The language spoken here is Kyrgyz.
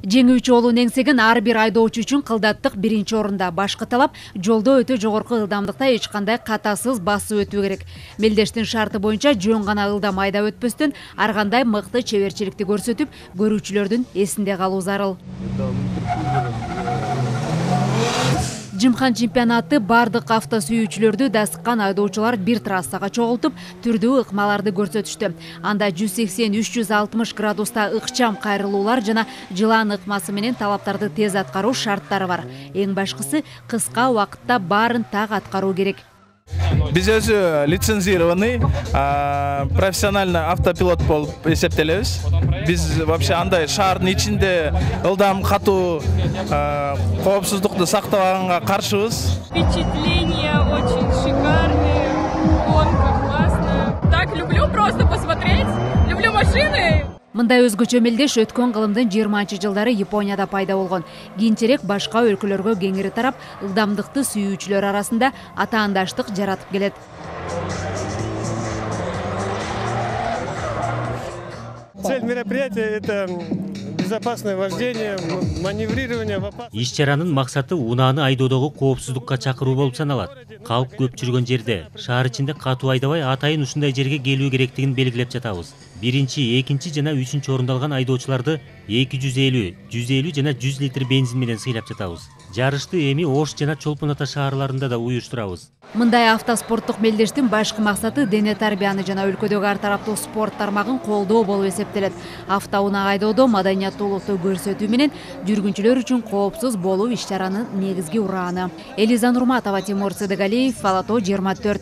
Жеңүүчү олун эңсеген ар бир айдоочу үчүн кылдаттык биринчи орунда. Башкы талап жолдо өтө жогорку ылдамдыкта эч кандай катасыз басып өтүү керек. Мелдештин шарты боюнча жөн гана ылдам айдап өтпөстөн ар кандай мыкты чеберчиликти көрсөтүп, көрүүчүлөрдүн эсинде калуу зарыл. Жымхан чемпионаты бардык авто сүйүүчүлөрдү да сыккан айдоочулар бир трассага чогултуп, түрдүү ыкмаларды көрсөтүштү. Анда 180-360 градуста ыкчам кайрылуулар жана жылан ыкмасы менен талаптарды тез аткаруу шарттары бар. Эң башкысы кыска убакытта баарын так аткаруу керек. Биз өзү лицензированный профессиональный автопилот болуп эсептелебиз. Биз вообще андай шаардын ичинде ылдам катуу коопсуздукту сактабаганга каршыбыз. Впечатления очень шикарные, гонка классная. Так люблю просто посмотреть, люблю машины. Мындай өзгөчө мелдеш өткөн кылымдын 20-жылдары Японияда пайда болгон. Кийинчерээк башка өлкөлөргө кеңири тарап, ылдамдыкты сүйүүчүлөр арасында атаандаштык жаратып келет. Цель мероприятия – это безопасное вождение, маневрирование в опасности. Иш-чаранын максаты унааны айдоодогу коопсуздукка чакыруу болуп саналат. Калк көп жүргөн жерде, шаар ичинде катуу айдабай, атайын ушундай жерге келүү керектигин белгилеп жатабыз. Биринчи, экинчи жана үчүнчү орунду алган айдоочуларды 250, 150 жана 100 литр бензин менен сыйлап жатабыз. Жарышты эми Ош жана Чолпон Ата шаарларында да уюштурабыз. Мындай автоспорттук мелдештин башкы максаты дене тарбияны жана өлкөдөгү ар тараптуу спорт тармагын колдоо болуп эсептелет. Автоунаа айдоодо маданияттуулукту көрсөтүү менен жүргүнчүлөр үчүн коопсуз болуу иш-чаранын негизги урааны. Элиза Нурматова, Тимур Сыдыгалиев, Фалато 24.